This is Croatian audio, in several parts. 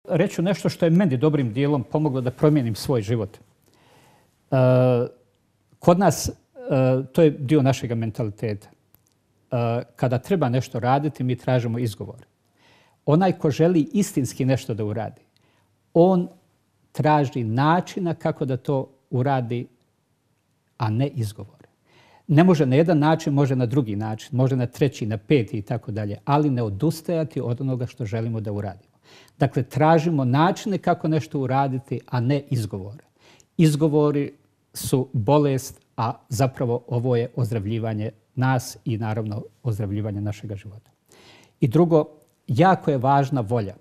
reći nešto što je meni dobrim dijelom pomoglo da promijenim svoj život. Kod nas, to je dio našeg mentaliteta. Kada treba nešto raditi, mi tražimo izgovor. Onaj ko želi istinski nešto da uradi, on traži načina kako da to uradi, a ne izgovore. Ne može na jedan način, može na drugi način, može na treći, na peti i tako dalje, ali ne odustajati od onoga što želimo da uradimo. Dakle, tražimo načine kako nešto uraditi, a ne izgovore. Izgovori su bolest, a zapravo ovo je ozdravljivanje nas i naravno ozdravljivanje našega života. I drugo, jako je važna volja.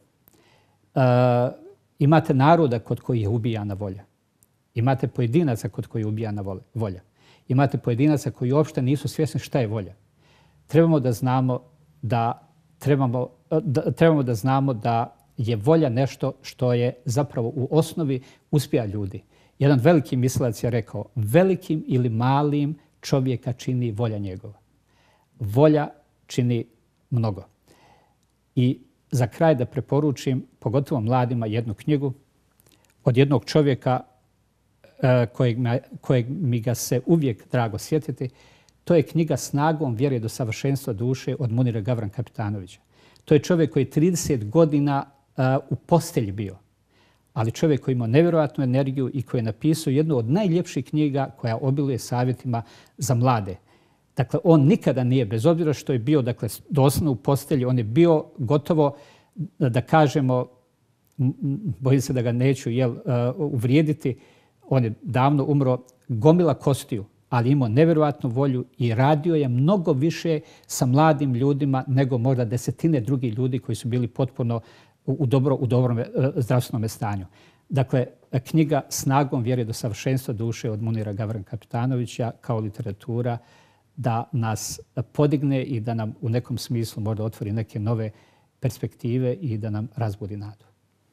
Imate naroda kod kojih je ubijana volja. Imate pojedinaca kod kojih je ubijana volja. Imate pojedinaca koji uopšte nisu svjesni šta je volja. Trebamo da znamo da je volja nešto što je zapravo u osnovi uspjeha ljudi. Jedan veliki mislilac je rekao, velikim ili malim čovjeka čini volja njegova. Volja čini mnogo. I za kraj da preporučim, pogotovo mladima, jednu knjigu od jednog čovjeka kojeg mi ga se uvijek drago sjetiti. To je knjiga Snagom vjere do savršenstva duše od Munira Gavran Kapetanovića. To je čovjek koji je 30 godina u postelji bio, ali čovjek koji ima nevjerojatnu energiju i koji je napisao jednu od najljepših knjiga koja obiluje savjetima za mlade. Dakle, on nikada nije, bez obzira što je bio doslovno u postelji, on je bio gotovo, da kažemo, bojim se da ga neću uvrijediti, on je davno umro, gomila kostiju, ali imao nevjerojatnu volju i radio je mnogo više sa mladim ljudima nego možda desetine drugih ljudi koji su bili potpuno u dobrom zdravstvenom stanju. Dakle, knjiga Snagom vjere do savršenstva duše od Munira Gavran Kapetanovića kao literatura da nas podigne i da nam u nekom smislu možda otvori neke nove perspektive i da nam razbudi nadu.